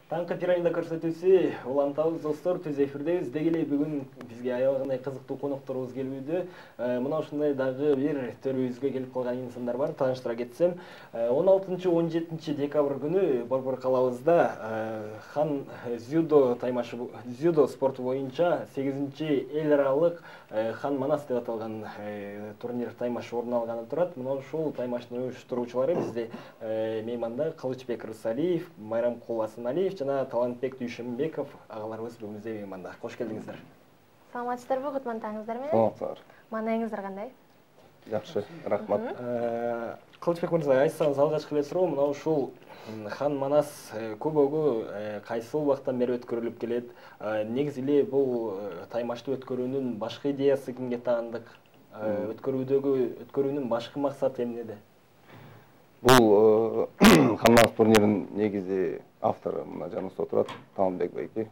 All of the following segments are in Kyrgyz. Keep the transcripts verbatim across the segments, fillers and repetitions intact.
Таңкы пирамида көрсөтүүсү улантабыз достор, түз эфирдебиз. Деги эле бүгүн бизге аябагандай кызыктуу конокторубуз келүүдө. Мына ушундай дагы бир төрүбүзгө келип калган инсандар бар. Тааныштыра кетсем, он алтынчы он жетинчи декабрь күнү Борбор калабызда хан дзюдо таймашы дзюдо спорту боюнча сегизинчи эл аралык Хан Манас деп аталган турнир таймаш орун алганы турат. Мына ушул таймаштын уюштуруучулары бизде мейманда Кылычбек Рысалиев, Майрамкул Асаналиев жана Талантбек Дүйшөнбеков агаларыбыз бүгүнүздө мейманда. Кош келдиңиздер. Саламатсыздарбы, кутмандаңыздар менен? Саламатсыздар. Маанайыңыздар кандай? Жакшы, рахмат. Кылычбек мырза, айтсаңыз алгачкы эле суроо, мына ушул Хан Манас көбөгү кайсыл убактан бери өткөрүлүп келет? Негизи эле бул таймашты өткөрүүнүн башкы идеясы кимге таандык? Өткөрүүдөгү өткөрүүнүн башкы максаты эмнеде? Бул Хан Манас турниринин негизи автору мына жаныбызда отурат, Талантбек байке.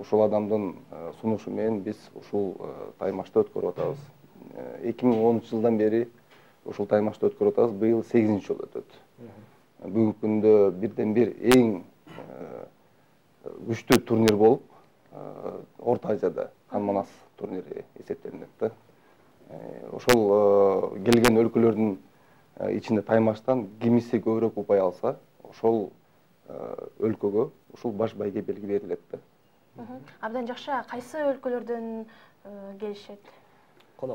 Ушул адамдын сунушу менен биз ушул таймашты өткөрүп атабыз. эки миң онунчу жылдан бери ушул таймашты өткөрүп атабыз. Быйыл сегизинчи жолу өтөт. Бүгүнкү күндө бирден бир эң күчтүү турнир болуп, Орто Азияда Хан Манас турнири эсептелинет да. Ошол келген өлкөлөрдүн ичинде таймаштан кимиси көбүрөөк упай алса, ошол өлкөгө ушул баш байге белги берилет да. Абдан жакшы. Кайсы өлкөлөрдөн келишет?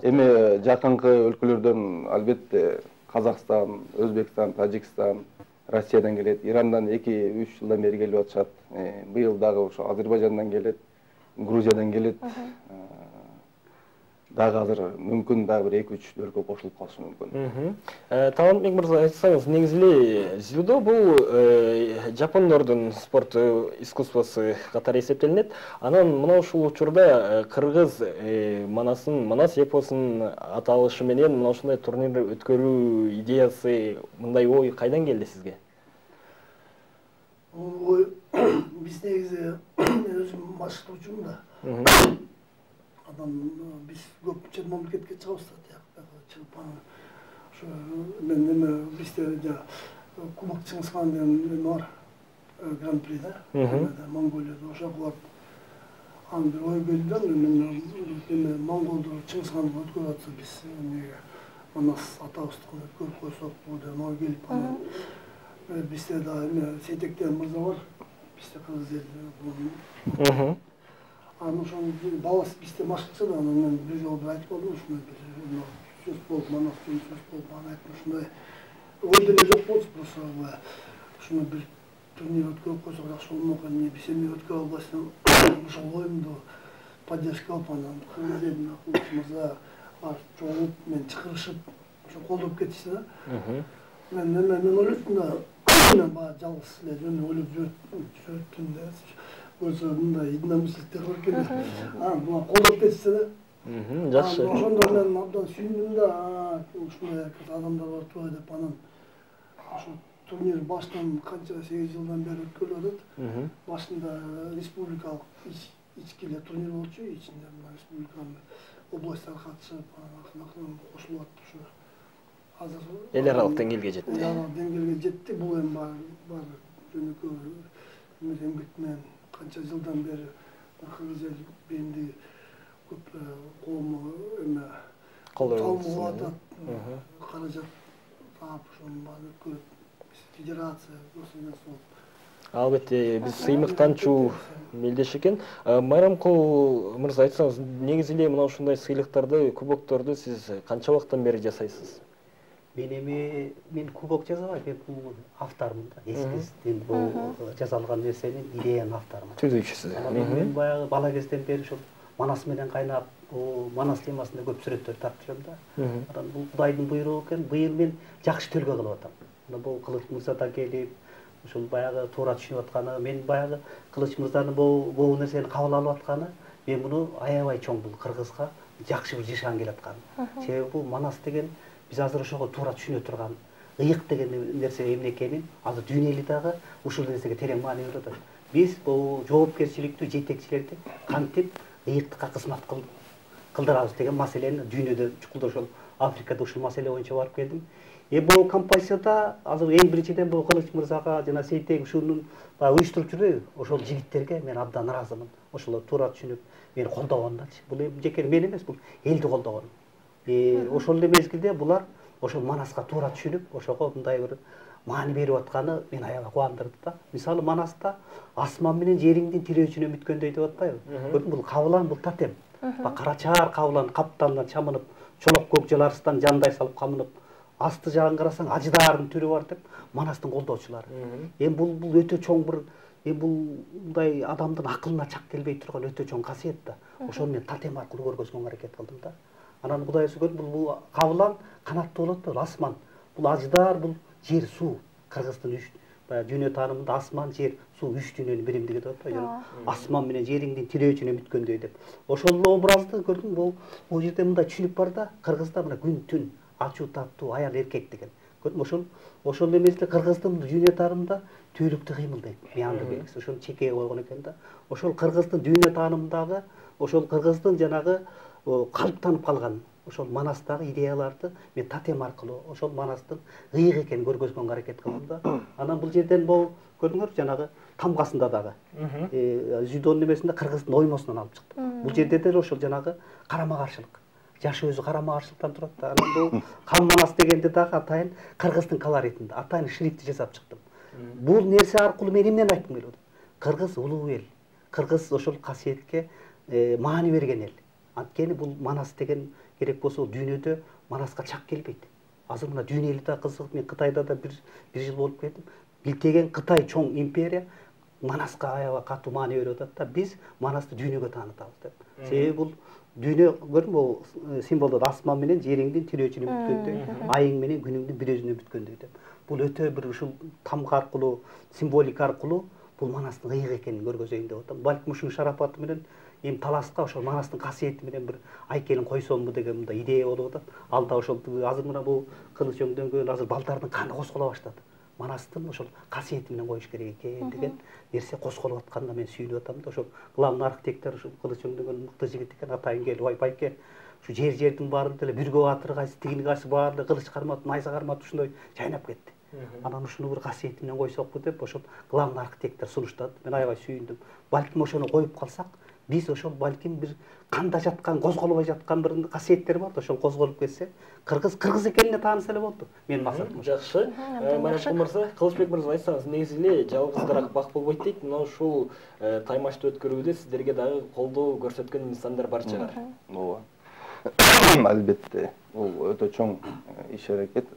Эми жакынкы өлкөлөрдөн албетте Казакстан, Өзбекстан, Тажикстан, Россиядан келет, Ирандан эки үч жылдан бери келип атышат. Быйыл дагы ошо Азербайжандан келет, Грузиядан келет. Дагы азыр мүмкүн дагы бир эки үч өлкө кошулуп калышы мүмкүн. Талантбек мырза, айтсаңыз, негизи эле дзюдо бул жапондордун спорту искусствосу катары эсептелинет. Анан мына ушул учурда кыргыз Манасын, Манас эпосунун аталышы менен мына ушундай турнир өткөрүү идеясы, мындай ой кайдан келди сизге? Ой биз негизи өзүм баштоочумун да. Адам биз көп чет мамлекетке чыгабыз да, чыгып анан ошо мен эме бизде жана Кубок Чыңгыз хан деген эме бар, гран-при да, Монголияда ошого барып анан бир ой келди да, мен эме Монголду Чыңгыз ханды өткөрүп атса биз эмеге Манас атабыздыкын өткөрүп койсокпу деген ой келип, анан бизде да эме Сейтектен мырза бар, бизде кыргыз эл. Анан ошол баласы бизде машыкчы да, анан мен бир жолу бир айтып калдым, ушундай бир сөз болуп, Манас деген сөз болуп, анан айттым, ушундай ой деле жок болчу, просто ушуну бир турнир өткөрүп койсок жакшы болмок, эмне биз эмне өткөрө албайсың, ошол оюмду поддержка алып, анан кыргыз элинин акылчы мырза бар чогулуп, мен чакырышып, ошо колдоп кетишти да. Мен эме мен ойлоштум да, мен баягы жалгыз эле жөн ойлоп жүрөттүм да. Көрсө мындай единомышленниктер бар экен да. Анан буга колдоп кетишти да. Жакшы. Ошондо мен абдан сүйүндүм да, ушундай адамдар бар турбайбы деп. Анан ошо турнир баштан канча сегиз жылдан бери өткөрүлүп атат. Башында республикалык ички эле турнир болчу, ичинде республиканын областтар катышып, акырын-акырын кошулуп атты ушу. Азыр эл аралык деңгээлге жетти. Эл аралык деңгээлге жетти. Бул эми бар жөнөкөй эмгек менен канча жылдан бери кыргыз эл бенди көп коому эме колдоп атат, каражат таап ошонун баарын өткөрүп, федерация государство. Албетте, биз сыймыктанчу мелдеш экен. Майрамкул мырза, айтсаңыз, негизи эле мына ушундай сыйлыктарды, кубокторду сиз канча убакыттан бери жасайсыз? Мен эми мен кубок жасабайм, мен бул автормун да. Эскизден бул жасалган нерсенин идеянын авторумун. Түзүүчүсү. Мен баягы бала кезден бери ушул Манас менен кайнап, Манас темасында көп сүрөттөр тартып жүрөм да. Анан бул Кудайдын буйругу экен. Быйыл мен жакшы төлгө кылып атам. Мына бул Кылыч мырза да келип, ушул баягы туура түшүнүп атканы, мен баягы Кылыч мырзанын бул нерсени кабыл алып атканы, мен муну аябай чоң бул кыргызга жакшы бир жашан келе аткан. Себеби бул Манас деген биз азыр ошого туура түшүнө турган ыйык деген нерсе эмне экенин азыр дүйнө эли дагы ушул нерсеге терең маани берип атат. Биз бул жоопкерчиликтүү жетекчилерди кантип ыйыктыкка кызмат кылдырабыз деген маселени дүйнөдө чукулда ошол Африкада ушул маселе боюнча барып келдим. Эми бул композицияда азыр эң биринчиден бул Кылыч мырзага жана Сейтек ушунун баягы уюштуруп жүрбөйбү? Ошол жигиттерге мен абдан ыраазымын. Ошолор туура түшүнүп, мени колдогондачы. Бул эми жеке мен эмес, бул элди колдогон. Э, ошол эле мезгилде булар ошол Манаска туура түшүнүп, ошого мындай бир маани берип атканы мени аябай кубандырды да. Мисалы Манаста асман менен жериңдин тирөөчүнө бүткөндөй деп атпайбы? Көрдүңбү? Бул кабылан, бул тотем. Карачаар кабылан каптандан чамынып, чолок көк жаларыстан жандай салып камынып, асты жагын карасаң ажыдаардын түрү бар деп Манастын колдоочулары. Эми бул бул өтө чоң бир, эми бул мындай адамдын акылына чак келбей турган өтө чоң касиет да. Ошону мен тотем аркылуу көргөзгөнгө аракет кылдым да. Анан Кудай сөйгөт, бул бул кабылан канаттуу болот да, асман. Бул ажыдаар, бул жер, суу. Кыргыздын үч баягы дүйнө таанымында асман, жер, суу үч дүйнөнүн биримдиги деп атпайбы? Асман менен жериңдин тирөөчүнө бүткөндөй деп. Ошол образды көрдүң, бул бул жерде мындай түшүнүк бар да, кыргызда мына күн, түн, ачуу, таттуу, аял, эркек деген. Көрдүң, ошол ошол эместе кыргыздын дүйнө таанымында түйлүктүү кыймыл дейт. Мыянды белгиси ошону чекеге койгон экен да. Ошол кыргыздын дүйнө таанымындагы, ошол кыргыздын жанагы калыптанып калган ошол Манастагы идеяларды мен тотем аркылуу ошол Манастын ыйык экенин көргөзгөнгө аракет кылдым да. Анан бул жерден бул көрдүңөр, жанагы тамгасында дагы Зүйдөнүн эмесинде кыргыздын оймосунан алып чыктым. Бул жерде деле ошол жанагы карама каршылык. Жаш өзү карама каршылыктан турат да. Анан бул Кан Манас дегенде дагы атайын кыргыздын колоритинде, атайын шрифти жасап чыктым. Бул нерсе аркылуу мен эмнени айткым келип атат? Кыргыз улуу эл. Кыргыз ошол касиетке маани берген эл. Анткени бул Манас деген керек болсо дүйнөдө Манаска чак келбейт. Азыр мына дүйнө эли да кызыгып, мен Кытайда да бир бир жыл болуп келдим. Билтеген Кытай чоң империя Манаска аябай катуу маани берип атат да. Биз Манасты дүйнөгө таанытабыз деп. Себеби бул дүйнө, көрдүңбү, бул символдор асман менен жериңдин тирөөчүнө бүткөндөй, айың менен күнүңдүн бир өзүнө бүткөндөй деп. Бул өтө бир ушул тамга аркылуу, символика аркылуу бул Манастын ыйык экенин көргөзөйүн деп атам. Балким ушунун шарапаты менен эми таласка ошол Манастын касиети менен бир айкелин койсомбу деген мындай идея болуп атат. Ал да ошол азыр мына бул кылыч өңдөнгөн азыр балдардын каны козголо баштады. Манастын ошол касиети менен коюш керек экен деген нерсе козголуп атканына мен сүйүнүп атам да. Ошол главный архитектор ушул кылыч өңдөнгөн мыкты жигит экен, атайын келип, ой байке, ушу жер жердин баарын деле Бүргө баатыр кайсы, тигини кайсы баары кылыч карматып, найза карматып ушундай жайнап кетти. Анан ушуну бир касиети менен койсокпу деп ошол главный архитектор сунуштады. Мен аябай сүйүндүм. Балким ошону коюп калсак, биз ошол балким бир канда жаткан, козголбой жаткан бир касиеттер бар да, ошол козголуп кетсе, кыргыз кыргыз экенине тааныса эле болду. Менин максатым. Жакшы. Марат мырза, Кылычбек мырза, айтсаңыз, негизи эле жалгыз бак болбойт дейт. Мына ушул таймашты өткөрүүдө сиздерге дагы колдоо көрсөткөн инсандар бар чыгар. Ооба. Албетте, бул өтө чоң иш-аракет.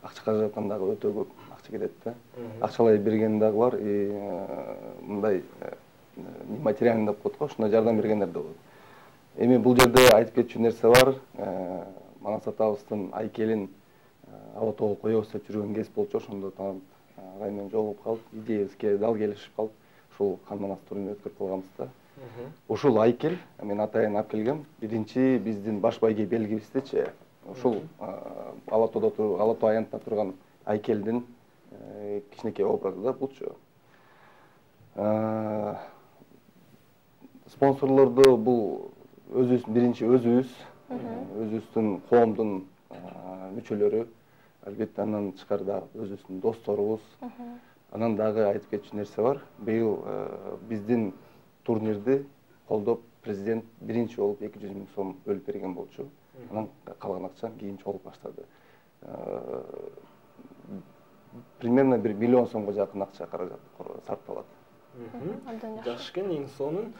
Акча каражаттан дагы өтө көп акча кетет да. Акчалай берген дагы бар, мындай материалдык деп коет го, ушундай жардам бергендер да болот. Эми бул жерде айтып кетчү нерсе бар. Манас атабыздын айкелин Алатоого коебуз деп жүргөн кез болчу, ошондо таанып агай менен жолугуп калып, идеябизге дал келишип калып, ушул Кан Манас турнирин өткөрүп калганбыз да. Ушул айкел мен атайын алып келгем. Биринчи биздин баш байге белгибиздечи ушул Алатоодо туруп, Алатоо аянтында турган айкелдин кичинекей образы да булчу. Спонсорлорду бул өзүбүздүн биринчи өзүбүз, өзүбүздүн коомдун мүчөлөрү, албетте андан тышкары да өзүбүздүн досторубуз. Анан дагы айтып кетчү нерсе бар. Быйыл биздин турнирди колдоп президент биринчи болуп эки жүз миң сом бөлүп берген болчу. Анан калган акча кийин чогулуп баштады. Примерно бир миллион сомго жакын акча каражат сарпталат. Жакшы экен. Эң сонун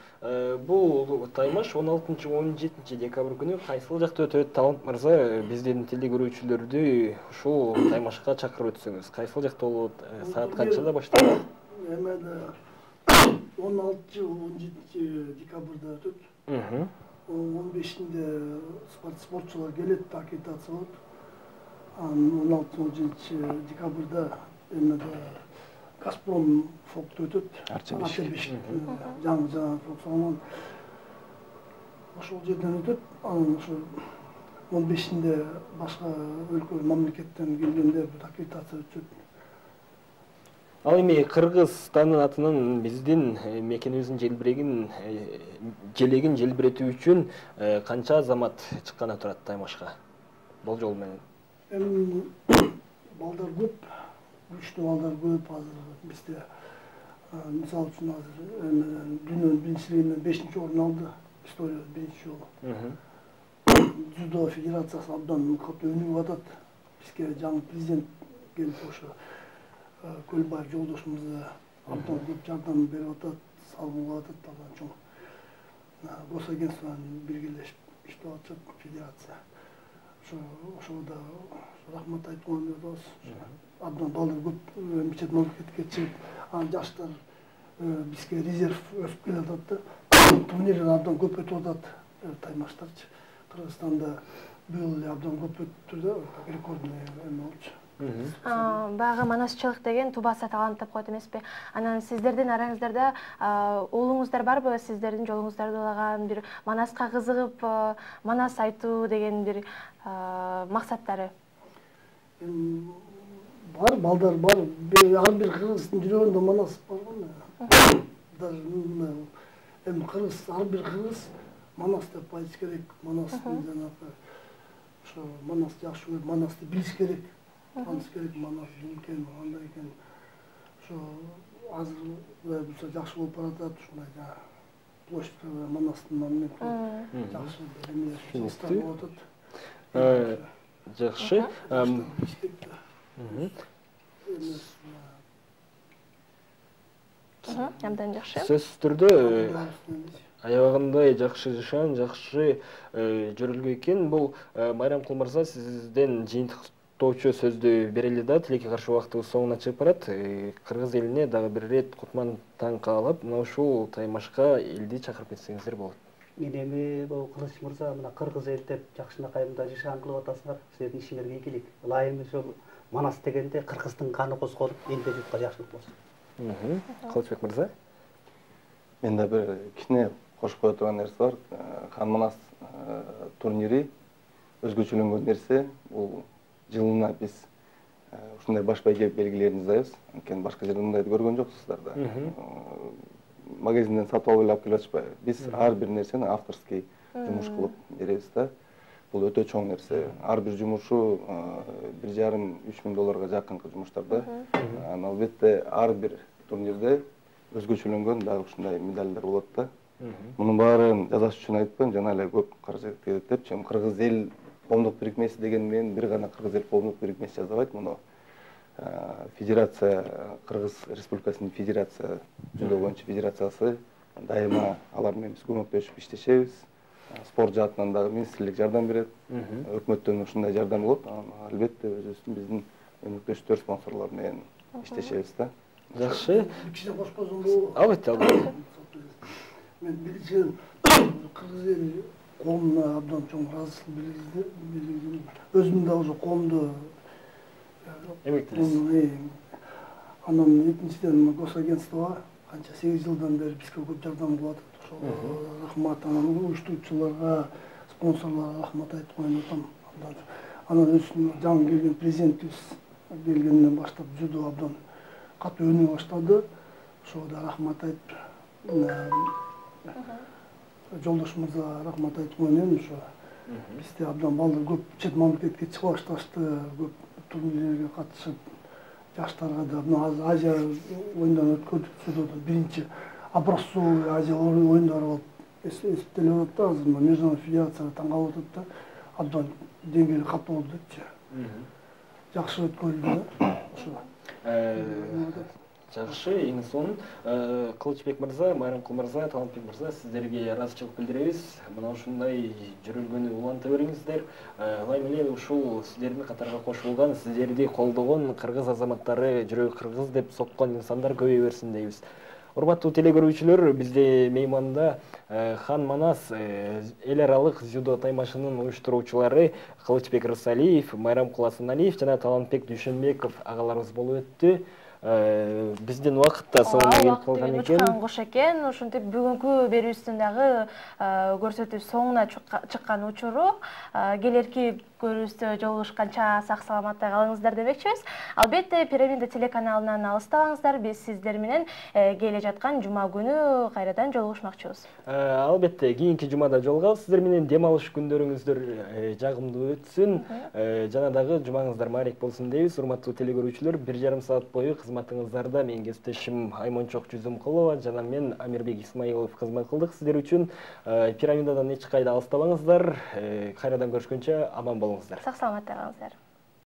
бул таймаш он алтынчы он жетинчи декабрь күнү кайсыл жакта өтөт? Талант мырза, биздин тилди көрүүчүлөрдү ушул таймашка чакырып өтсөңүз, кайсыл жакта болот? Саат канчада башталат? Эмеде он алтынчы он жетинчи декабрда өтөт. он бешинде спортчулар келет, аккредитация болот. Анан он алтынчы он жетинчи декабрда эмеде Газпром фокто өтөт. Арча бешик. Жаңы жаңы фоксонун ошол жерден өтөт. Анан ошо он бешинде башка өлкө мамлекеттен келгенде аккредитация өтөт. Ал эми Кыргызстандын атынан биздин мекенибиздин желбирегин желегин желбиретүү үчүн канча азамат чыкканы турат таймашка? Болжол менен. Эми балдар көп, күчтүү балдар көп азыр бизде. Мисалы үчүн азыр дүйнөнүн биринчилигинен бешинчи орун алды. Историяда биринчи жолу. Дзюдо федерациясы абдан катуу өнүгүп атат. Бизге жаңы президент келип ошо Көлбаев жолдошумуз абдан көп жардам берип атат, салгылап атат, абдан чоң. Госагентство менен биргелешип иштеп атышат федерация. Ошо ошого да рахмат айткым келет. Абдан балдар көп чет мамлекетке чыгып, анан жаштар бизге резерв өсүп келатат да. Турнирлер абдан көп өтүп атат, таймаштарчы. Кыргызстанда быйыл эле абдан көп өттү да, рекордный эме болчу. Баягы манасчылык деген тубаса талант деп коет эмеспи? Анан сиздердин араңыздарда уулуңуздар барбы? Сиздердин жолуңуздарды улаган бир Манаска кызыгып, Манас айтуу деген бир максаттары? Бар, балдар бар. Ар бир кыргыздын жүрөгүндө Манас бар го. Даже эми кыргыз, ар бир кыргыз Манас деп айтыш керек. Манастын жанагы ошо Манасты жакшы көрүп, Манасты билиш керек. Таныс керек, Манас экен, андай экен. Ошо азыр Кудай буюрса жакшы болуп баратат, ушундай жана площадька Манастын монументи жакшы эмелер чыгыштар болуп атат. Жакшы. Абдан жакшы. Сөзсүз түрдө аябагындай жакшы жашан, жакшы жөрүлгөн экен. Бул Майрамкул мырза сизден жыйынтыктоочу сөздү берели да, тилекке каршы убактыбыз соңуна чыгып барат. Кыргыз элине дагы бир ирет Кутман таң каалап, мына ушул таймашка элди чакырып кетсеңиздер болот. Мен эми бул Кылыч мырза мына кыргыз эл деп жакшынакай мында жашан кылып атасыңар. Силердин ишиңерге ийгилик. Ылайым ошол Манас дегенде кыргыздын каны козголуп, элде журтка жакшылык болсун. Кылычбек мырза? Мен да бир кичине кошуп кое турган нерсе бар. Хан Манас турнири өзгөчөлөнгөн нерсе. Бул жылына биз ушундай баш байге белгилерин издайбыз. Анткени башка жерде мындайды көргөн жоксуздар да. Магазинден сатып алып алып келип атышпайбы. Биз ар бир нерсени авторский жумуш кылып беребиз да. Бул өтө чоң нерсе. Ар бир жумушу бир жарым үч миң долларга жакынкы жумуштар да. Анан албетте ар бир турнирде өзгөчөлөнгөн дагы ушундай медальдар болот да. Мунун баарын жазаш үчүн айтпайм, жана эле көп каражат кетет деп, чым кыргыз эл коомдук бирикмеси деген менен бир гана кыргыз эл коомдук бирикмеси жазабайт, муну федерация, Кыргыз Республикасынын федерация, жүзө боюнча федерациясы дайыма алар менен биз көмөктөшүп иштешебиз. Спорт жаатынан дагы министрлик жардам берет, өкмөттөн ушундай жардам болот. Албетте өзүбүздүн биздин өнөктөштөр, спонсорлор менен иштешебиз да. Жакшы. Кичине кошуп койсоң болобу? Албетте, албетте. Мен билишим кыргыз эли коомуна абдан чоң ыраазычылык билдирди. Өзүм да ошо коомдо эмгектенесиз. Анан экинчиден Госагентствого канча сегиз жылдан бери бизге көп жардам кылып атат. Ошо рахмат, анан уюштуруучуларга, спонсорлорго рахмат айтып коюн атам. Анан өзүнүн жаңы келген президентибиз келгенден баштап дзюдо абдан катуу өнүгө баштады. Ошого да рахмат айтып, жолдошумузга рахмат айтып коюн. Ошо бизде абдан балдар көп чет мамлекетке чыга башташты, көп турнирлерге катышып, жаштарга да мына азыр Азия оюндарын өткөрдүк, дзюдодон биринчи образцовый Азия оюндары болуп эсептелип атат да, азыр международный федерацияга таң калып атат да, абдан деңгээли катуу болду депчи. Жакшы өткөрүлдү да. Ошо. Жакшы, эң сонун Кылычбек мырза, Майрамкул мырза, Талантбек мырза, сиздерге ыраазычылык билдиребиз. Мына ушундай жүрүлгөнү уланта бериңиздер. Ылайым эле ушул сиздердин катарга кошулган, сиздерди колдогон кыргыз азаматтары, жүрөгү кыргыз деп соккон инсандар көбөйө берсин дейбиз. Урматтуу телекөрүүчүлөр, бизде мейманда Хан Манас эл аралык дзюдо таймашынын уюштуруучулары Кылычбек Рысалиев, Майрамкул Асаналиев жана Талантбек Дүйшөнбеков агаларыбыз болуп өттү. Биздин убакыт да соңуна келип калган экен. Кош экен, ошентип бүгүнкү берүүбүздүн дагы көрсөтүү соңуна чыккан учуру. Келерки көрүүбүздө жолугушканча сак саламатта калыңыздар демекчибиз. Албетте Пирамида телеканалынан алыстабаңыздар. Биз сиздер менен келе жаткан жума күнү кайрадан жолугушмакчыбыз. Албетте кийинки жумада жолугабыз. Сиздер менен дем алыш күндөрүңүздөр жагымдуу өтсүн. Жана дагы жумаңыздар маанилик болсун дейбиз. Урматтуу телекөрүүчүлөр, бир жарым саат бою кызматыңыздарда менин кесиптешим Аймончок Жүзүмкулова жана мен Амирбек Исмаилов кызмат кылдык сиздер үчүн. Пирамидадан эч кайда алыстабаңыздар. Кайрадан көрүшкөнчө аман болуңуздар. Сак саламатта калыңыздар.